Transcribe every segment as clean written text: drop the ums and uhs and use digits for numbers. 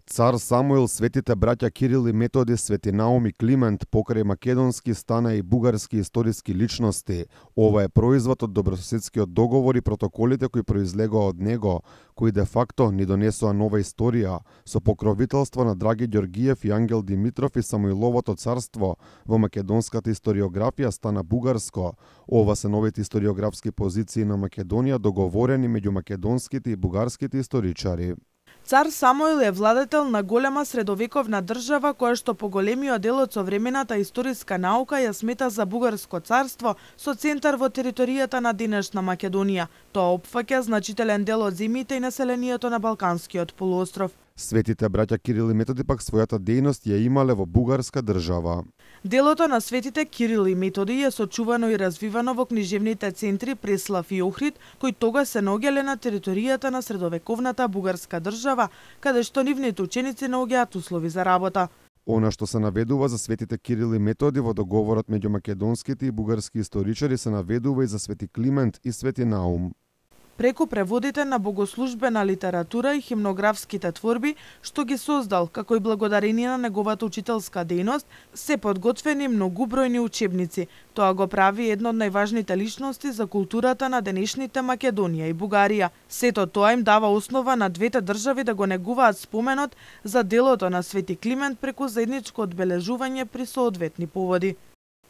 Цар Самуил, светите браќа Кирил и Методи, Свети Наум и Климент, покрај македонски стана и бугарски историски личности. Ова е производ од добрососедскиот договор и протоколите кои произлегоа од него, кои де факто ни донесоа нова историја, со покровителство на Драги Ѓоргиев и Ангел Димитров и Самуиловото царство. Во македонската историографија стана бугарско. Ова се новите историографски позиции на Македонија, договорени меѓу македонските и бугарските историчари. Цар Самуил е владетел на голема средовековна држава која што по големиот дел од современата историска наука ја смета за бугарско царство со центар во територијата на денешна Македонија. Тоа опфаќа значителен дел од земјите и населението на Балканскиот полуостров. Светите браќа Кирил и Методи пак својата дејност ја имале во бугарска држава. Делото на светите Кирил и Методи е сочувано и развивано во книжевните центри Преслав и Охрид, кои тогаш се наоѓале на територијата на средовековната бугарска држава, каде што нивните ученици наоѓаат услови за работа. Она што се наведува за светите Кирил и Методи во договорот меѓу македонските и бугарски историчари се наведува и за Свети Климент и Свети Наум. Преку преводите на богослужбена литература и химнографските творби, што ги создал, како и благодарение на неговата учителска дејност, се подготвени многубројни учебници. Тоа го прави едно од најважните личности за културата на денешните Македонија и Бугарија. Сето тоа им дава основа на двете држави да го негуваат споменот за делото на Свети Климент преку заедничко одбележување при соодветни поводи.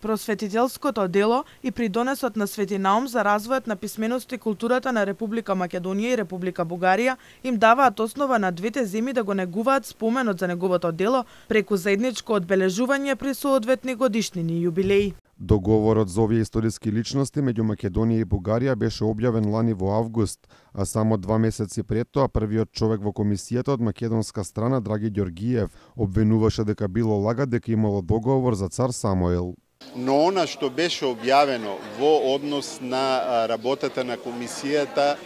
Просветителското дело и придонесот на Свети Наум за развојот на писменоста и културата на Република Македонија и Република Бугарија им даваат основа на двете земји да го негуваат споменот за неговото дело преку заедничко одбележување при соодветни годишнини и јубилеи. Договорот за овие историски личности меѓу Македонија и Бугарија беше објавен лани во август, а само 2 месеци пред тоа првиот човек во комисијата од македонска страна, Драги Ѓоргиев, обвинуваше дека било лага дека имало договор за цар Самуил. Но она што беше објавено во однос на работата на комисијата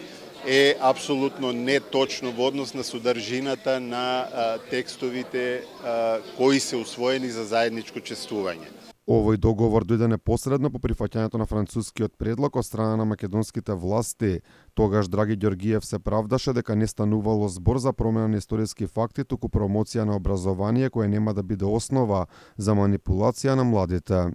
е апсолутно неточно во однос на содржината на текстовите кои се усвоени за заедничко чествување. Овој договор дојде непосредно по прифаќањето на францускиот предлог од страна на македонските власти. Тогаш Драги Ѓоргиев се правдаше дека не станувало збор за промена на историски факти, туку промоција на образование која нема да биде основа за манипулација на младите.